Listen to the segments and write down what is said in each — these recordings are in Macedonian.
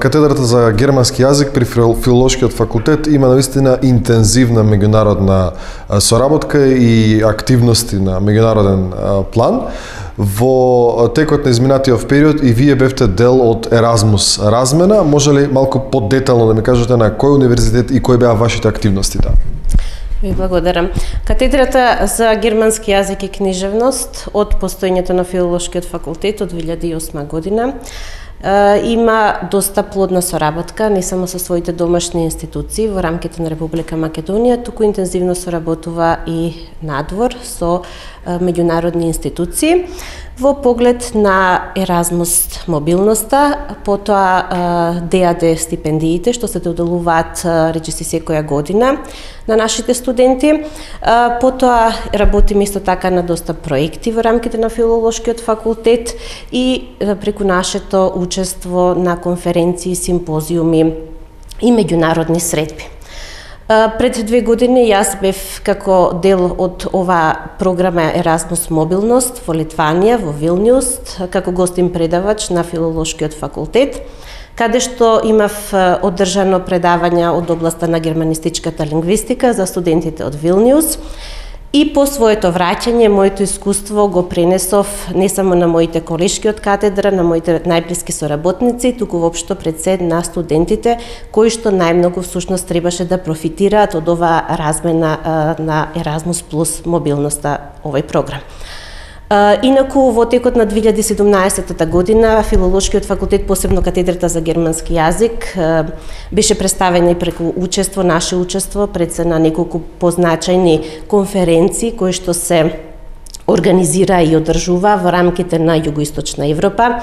катедрата за германски јазик при Филолошкиот факултет има навистина интензивна меѓународна соработка и активности на меѓународен план. Во текот на изминатиот период и вие бевте дел од Еразмус размена. Може ли малку подетално да ми кажете на кој универзитет и кои беа вашите активности таа? Ви благодарам. Катедрата за германски јазик и книжевност од постоењето на Филолошкиот факултет од 2008 година има доста плодна соработка не само со своите домашни институции во рамките на Република Македонија, туку интензивно соработува и надвор со меѓународни институции во поглед на Еразмус мобилноста, потоа ДАД стипендиите што се доделуваат речиси секоја година на нашите студенти. Потоа работиме исто така на доста проекти во рамките на Филолошкиот факултет и преку нашето учество на конференции, симпозиуми и меѓународни средби. Пред 2 години јас бев како дел од оваа програма Еразмус мобилност во Литванија, во Вилниус, како гостин предавач на Филолошкиот факултет, каде што имав одржано предавања од областа на германистичката лингвистика за студентите од Вилниус. И по своето враќање, моето искуство го пренесов не само на моите колешки од катедра, на моите најблиски соработници, туку воопшто пред се на студентите, кои што најмногу всушност требаше да профитираат од оваа размена на Еразмус плюс мобилноста овој програм. Инаку, во текот на 2017 година, Филолошкиот факултет, посебно катедрата за германски јазик, беше представена и преку учество, наше учество, пред се на неколку позначајни конференции, кои што се организира и одржува во рамките на Југоисточна Европа.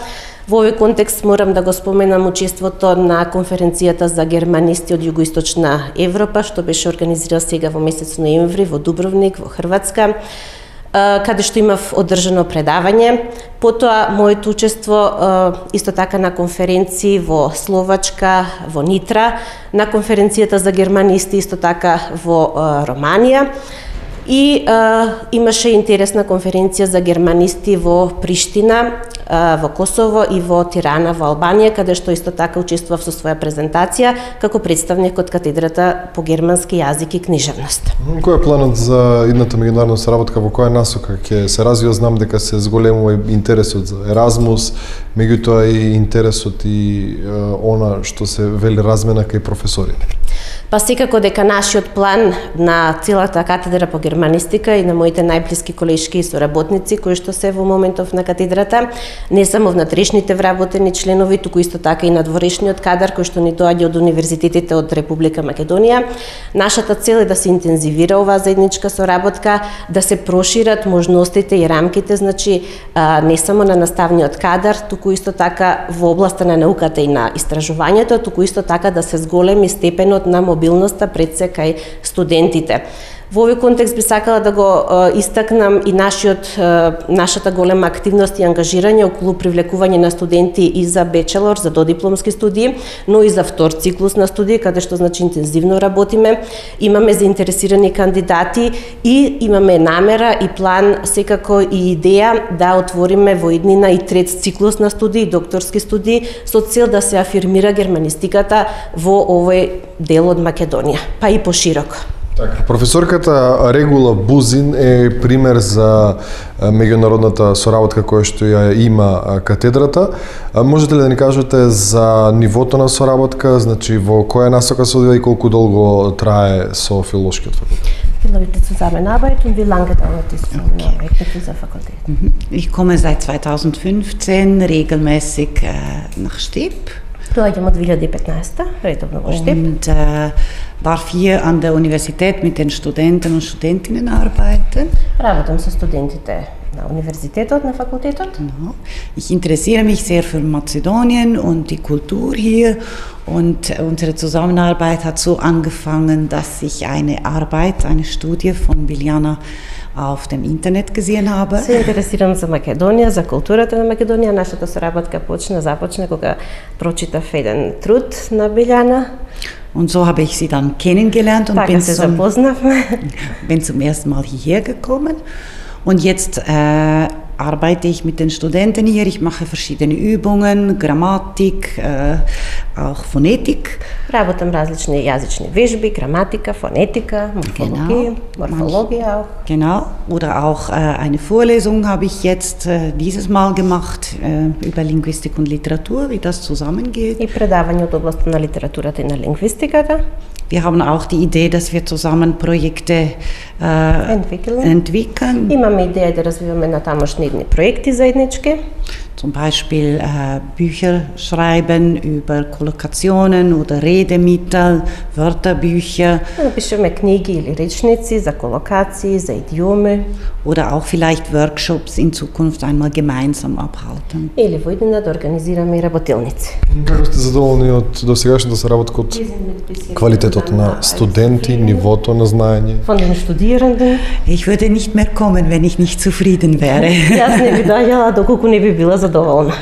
Во овој контекст морам да го споменам учеството на конференцијата за германисти од Југоисточна Европа, што беше организирана сега во месец ноември во Дубровник, во Хрватска, каде што имав одржано предавање. Потоа, моето учество исто така на конференции во Словачка, во Нитра, на конференцијата за германисти исто така во Романија. И имаше интересна конференција за германисти во Приштина, во Косово и во Тирана, во Албанија, каде што исто така учествував со своја презентација како представник од катедрата по германски јазик и книжевност. Кој е планот за идната меѓународна соработка, во која насока ќе се развива? Знам дека се зголемува интересот за Еразмус, меѓутоа и интересот и она што се вели размена кај професори. Па секако дека нашиот план на целата катедра по германистика и на моите најблиски колешки и соработници кои што се во моментов на катедрата, не само внатрешните вработени членови, туку исто така и надворешниот кадар кој што ни доаѓа од универзитетите од Република Македонија. Нашата цел е да се интензивира оваа заедничка соработка, да се прошират можностите и рамките, значи не само на наставниот кадар, туку исто така во областа на науката и на истражувањето, туку исто така да се зголеми степенот на мобилноста пред се кај студентите. Во овој контекст би сакала да го истакнам и нашата голема активност и ангажирање околу привлекување на студенти и за бечелор, за додипломски студии, но и за втор циклус на студии, каде што значи интензивно работиме. Имаме заинтересирани кандидати и имаме намера и план, секако и идеја да отвориме во иднина и трет циклус на студии, докторски студии, со цел да се афирмира германистиката во овој дел од Македонија, па и пошироко. Така, професорката Регула Бузин е пример за меѓународната соработка која што ја има катедрата. Можете ли да ни кажете за нивото на соработка, значи во која насока се одвива и колку долго трае со Филолошкиот факултет? Leute zusammenarbeiten und wie lange dauert die Zusammenarbeit mit dieser Fakultät? Ich komme seit 2015 regelmäßig nach Stip. Доаѓам од 2015 редовно во Штип. Und darf hier an der Universität mit den Studenten und Studentinnen arbeiten. Работам со студентите на универзитетот, на факултетот. Ich interessiere mich sehr für Mazedonien und die Kultur hier. Und unsere Zusammenarbeit hat so angefangen, dass ich eine Arbeit, eine Studie von Biljana auf dem Internet gesehen habe. Се интересирам за Македонија, за културата на Македонија. Нашата соработка започна кога прочитав еден труд на Биljana. Und so habe ich sie dann kennengelernt und bin zum ersten Mal hierher gekommen. Und jetzt arbeite ich mit den Studenten hier. Ich mache verschiedene Übungen, Grammatik, auch Phonetik. Работам различни јазични вежби, граматика, фонетика, морфологија, Morphologie auch. Genau, oder auch eine Vorlesung habe ich jetzt dieses Mal gemacht über Linguistik und Literatur, wie das zusammengeht. И предавање од областта на литературата и на лингвистиката. Wir haben auch die Idee, dass wir zusammen Projekte entwickeln. Имаме идеја да развиваме натамошни идни проекти заеднички. Zum Beispiel Bücher schreiben über Kollokationen oder Redemittel, Wörterbücher. Напишеме книги или речници за колокации, за идиоми. Oder auch vielleicht Workshops in Zukunft einmal gemeinsam abhalten. Или во иднина да организираме и работилници. Како сте задоволни од досегашната соработка, од квалитетот на студенти, нивото на знаење? Von den Studierenden. Ich würde nicht mehr kommen, wenn ich nicht zufrieden wäre. Јас не би доаѓала доколку не би била задоволна.